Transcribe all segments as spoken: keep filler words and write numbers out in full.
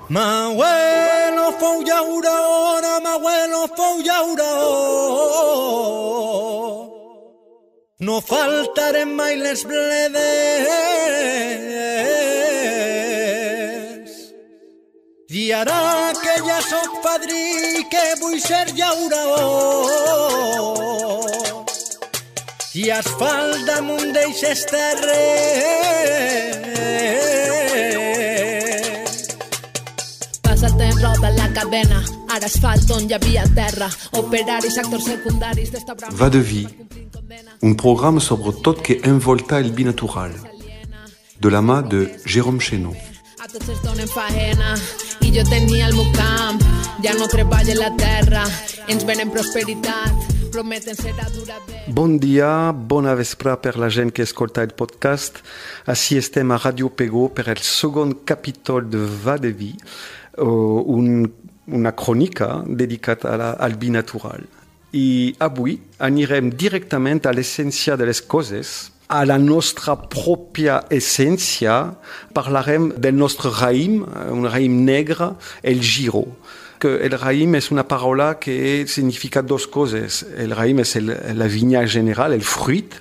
M'abuelo fou llauradora, m'abuelo fou llaurador. No faltarem mai les bledes. I ara que ja soc padrí, que vull ser llaurador. I asfalt damunt d'eixes terres. Passa el temps, roda la cadena, ara asfalt on hi havia terra, operaris, actors secundaris d'esta brama. Va de vie, un programme sobre tot que envolta el binatural, de la mà de Jérôme Chénaud. A tots es donen faena i jo tenia el meu camp, ja no treballo la terra, ens venen prosperitat, prometen serà durador. Bon dia, bona vespre per la gent que escolta el podcast. Així estem a Radio Pego per el segon capítol de Va de vie, un, una crònica dedicada a la, al binatural. I avui anirem directament a l'essència de les coses, a la nostra pròpia essència. Parlarem del nostre raïm, un raïm negre, el giro. Que el raïm és una paraula que significa dos coses. El raïm és el, la vinya general, el fruit,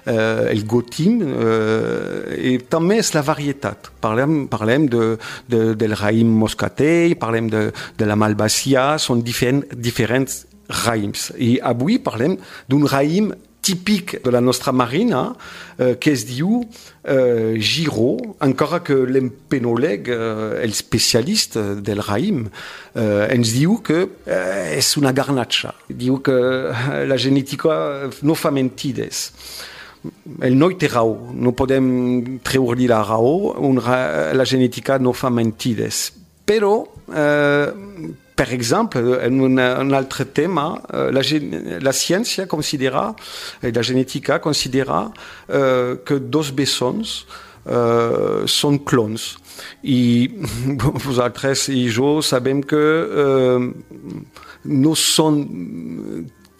eh, el gotim, eh, i també és la varietat. Parlem, parlem de, de, del raïm moscatell, parlem de, de la malvasia, són diferent, diferents raïms. I avui parlem d'un raïm típic de la nostra marina, eh, que es diu eh, giro, encara que l'empenòleg, eh, el especialista del raïm, eh, ens diu que eh, és una garnatxa. Diu que la genètica no fa mentides. El noi té raó, no podem treure-li la raó, un ra- la genètica no fa mentides. Però, eh, per exemple, en un, un altre tema, la, la ciència considera, la genètica considera eh, que dos bessons eh, són clons. I vosaltres i jo sabem que eh, no són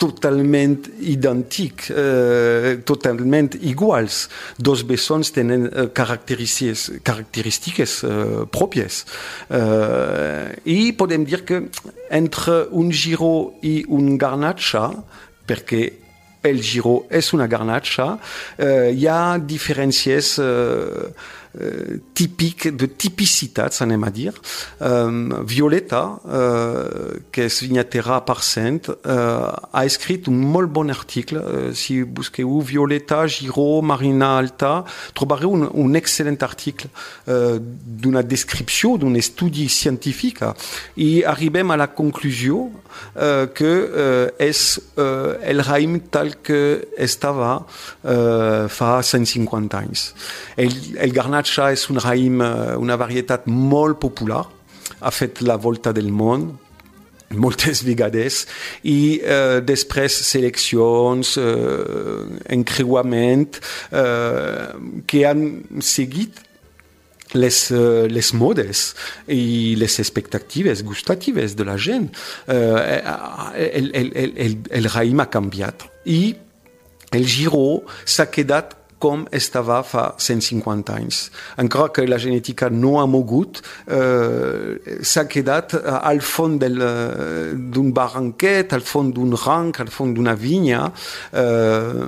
totalment idèntics, eh, totalment iguals. Dos bessons tenen eh, característiques, característiques eh, pròpies. Eh, I podem dir que entre un giro i un garnatxa, perquè el giro és una garnatxa, eh, hi ha diferències eh, Uh, típic, de tipicitats, anem a dir. Um, Violeta, uh, que és vinyatera a Parcent, uh, ha escrit un molt bon article. Uh, si busqueu Violeta, Giro, Marina Alta, trobareu un, un excel·lent article uh, d'una descripció, d'un estudi científic, i arribem a la conclusió uh, que uh, és uh, el raïm tal que estava uh, fa cent cinquanta anys. El, el garnatxa és un raïm, una varietat molt popular, ha fet la volta del món moltes vegades, i eh, després seleccions, eh, encreuament, eh, que han seguit les, uh, les modes i les expectatives gustatives de la gent. Eh, el, el, el, el, el raïm ha canviat i el giro s'ha quedat com estava fa cent cinquanta anys. Encara que la genètica no ha mogut, eh, s'ha quedat al fons del, d'un barranquet, al fons d'un ranc, al fons d'una vinya, eh,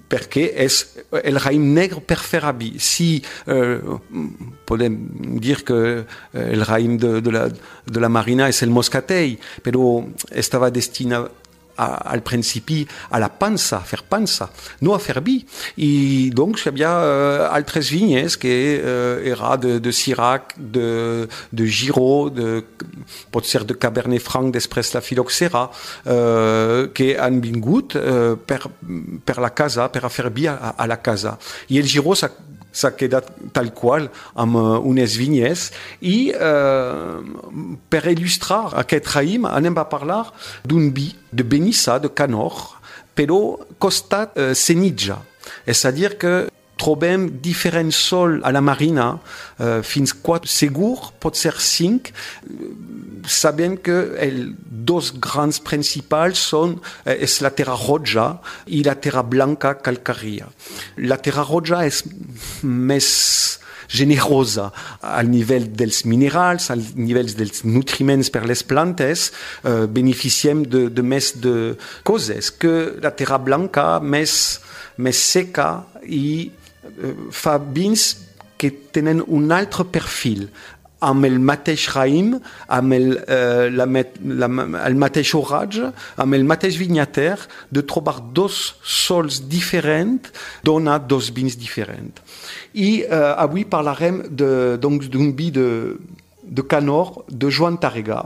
perquè és el raïm negre per fer vi. Si eh, podem dir que el raïm de, de, la, de la marina és el moscatell, però estava destinat A, al principi a la pansa, a fer pansa, no a fer vi. I doncs hi havia uh, altres vinyes que uh, era de, de Syrah, de, de Giro, de, pot ser de Cabernet Franc, després la Phylloxera, uh, que han vingut uh, per, per la casa, per a fer vi a, a la casa. I el Giro s'ha s'ha quedat tal qual amb uh, unes vinyes i uh, per il·lustrar aquest raïm anem a parlar d'un vi de Benissa, de Canor, però costat uh, Senija. És a dir que trobem diferents sols a la marina, uh, fins quatre, segur, pot ser cinc, sabent que els dos grans principals són uh, és la terra roja i la terra blanca calcària. La terra roja és més generosa al nivell dels minerals, al nivell dels nutriments per les plantes, eh, beneficiem de, de més de coses que la terra blanca més, més seca i eh, fa vins que tenen un altre perfil, amb el mateix raïm, amb el, eh, la, la, el mateix oratge, amb el mateix vinyater, de trobar dos sols diferents dona dos vins diferents. I eh, avui parlarem d'un vi de, de Canor de Joan Tàrrega,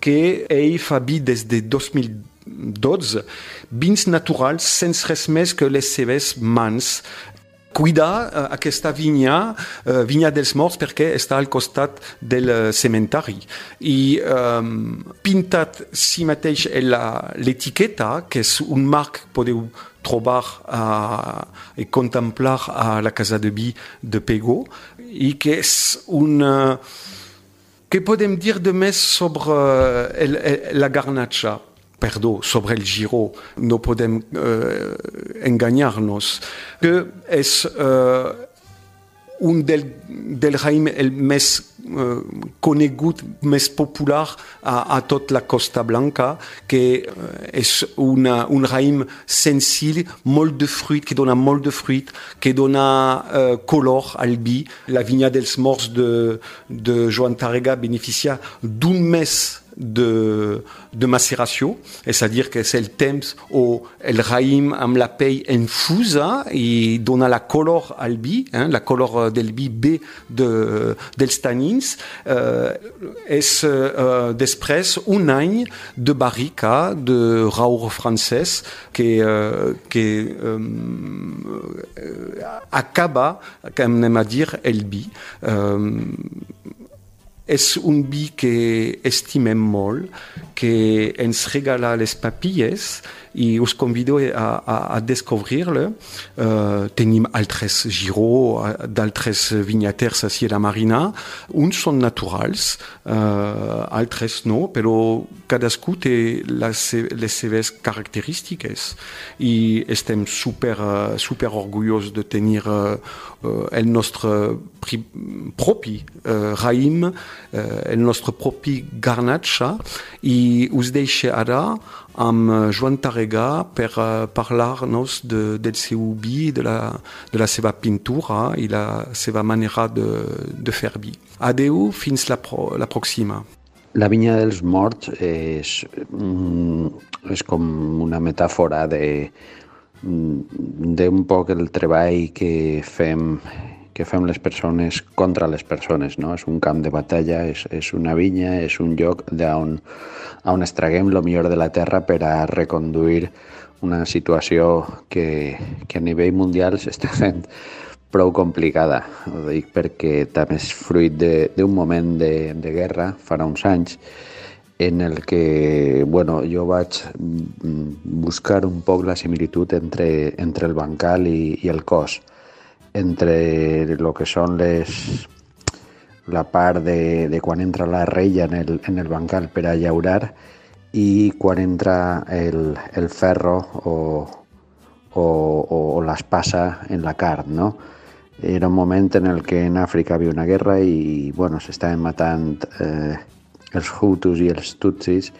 que ell fa vi des de dos mil dotze, vins naturals sense res més que les seves mans. Cuidar uh, aquesta vinya, uh, vinya dels morts, perquè està al costat del uh, cementari. I um, pintat si mateix l'etiqueta, que és un marc que podeu trobar uh, i contemplar a la casa de vi de Pego, i que és un... Uh, què podem dir de més sobre uh, el, el, la garnatxa? Perdó, sobre el Giro, no podem uh, enganyar-nos, que és uh, un del, del raïm el més uh, conegut, més popular a, a tot la Costa Blanca, que uh, és una, un raïm senzill, molt de fruit, que dona molt de fruit, que dona uh, color al vi. La vinya dels morts de, de Joan Tàrrega beneficia d'un mes de, de macération, c'est-à-dire que c'est le temps où el raïm amb la pell infusa i dona la color al vi, hein, la color del vi bé de, dels tannins, eh, és eh, després un any de barrica de raur francès que, eh, que eh, acaba, com anem a dir, el vi. Eh, És un vi que estimem molt, que ens regala les papilles i us convido a, a, a descobrir-le. Uh, tenim altres Giro, d'altres vinyaters a Sierra Marina. Uns són naturals, uh, altres no, però cadascú té les, les seves característiques i estem super, uh, super orgullosos de tenir uh, uh, el nostre pri, propi uh, raïm, uh, el nostre propi garnatxa, i us deixo ara amb Joan Tàrrega per uh, parlar-nos de, del seu vi, de la, de la seva pintura i la seva manera de, de fer vi. Adeu, fins la, pro, la pròxima. La vinya dels morts és, és com una metàfora de, d'un poc el treball que fem que fem les persones contra les persones, no? És un camp de batalla, és, és una vinya, és un lloc on, on extraguem el millor de la terra per a reconduir una situació que, que a nivell mundial s'està fent prou complicada. Ho dic perquè també és fruit d'un moment de, de guerra, farà uns anys, en el que bueno, jo vaig buscar un poc la similitud entre, entre el bancal i, i el cos, entre el que són les, la part de, de quan entra la reia en el, en el bancal per a llaurar i quan entra el, el ferro o, o, o l'espasa en la carn, no? Era un moment en el que en Àfrica havia una guerra i bueno, s'estaven matant eh, els Hutus i els Tutsis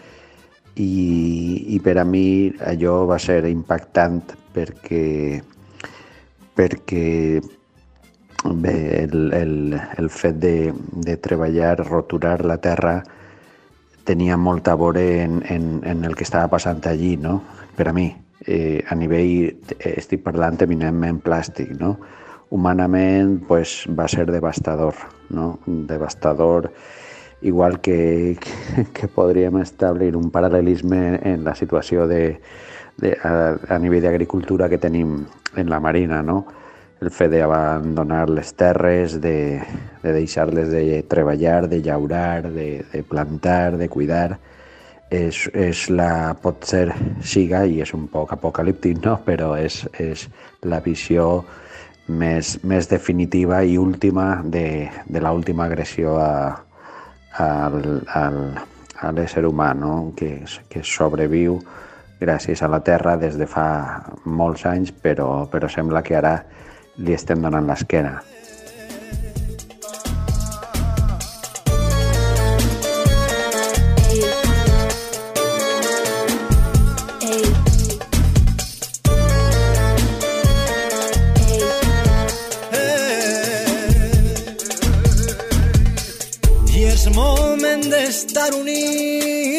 i, i per a mi allò va ser impactant perquè perquè bé, el, el, el fet de, de treballar, roturar la terra tenia molt a veure en, en, en el que estava passant allí, no? Per a mi, eh, a nivell, estic parlant eminentment plàstic, no? Humanament pues, va ser devastador, no? Devastador, igual que, que, que podríem establir un paral·lelisme en la situació de, de, a, a nivell d'agricultura que tenim en la Marina, no? El fet d'abandonar les terres, de, de deixar-les de treballar, de llaurar, de, de plantar, de cuidar, és, és la, pot ser, siga, i és un poc apocalíptic, no? Però és, és la visió més, més definitiva i última de, de l'última agressió a, a, a, a l'ésser humà, no? que, que sobreviu gràcies a la terra des de fa molts anys, però, però sembla que ara li estem donant l'esquena. I és moment d'estar units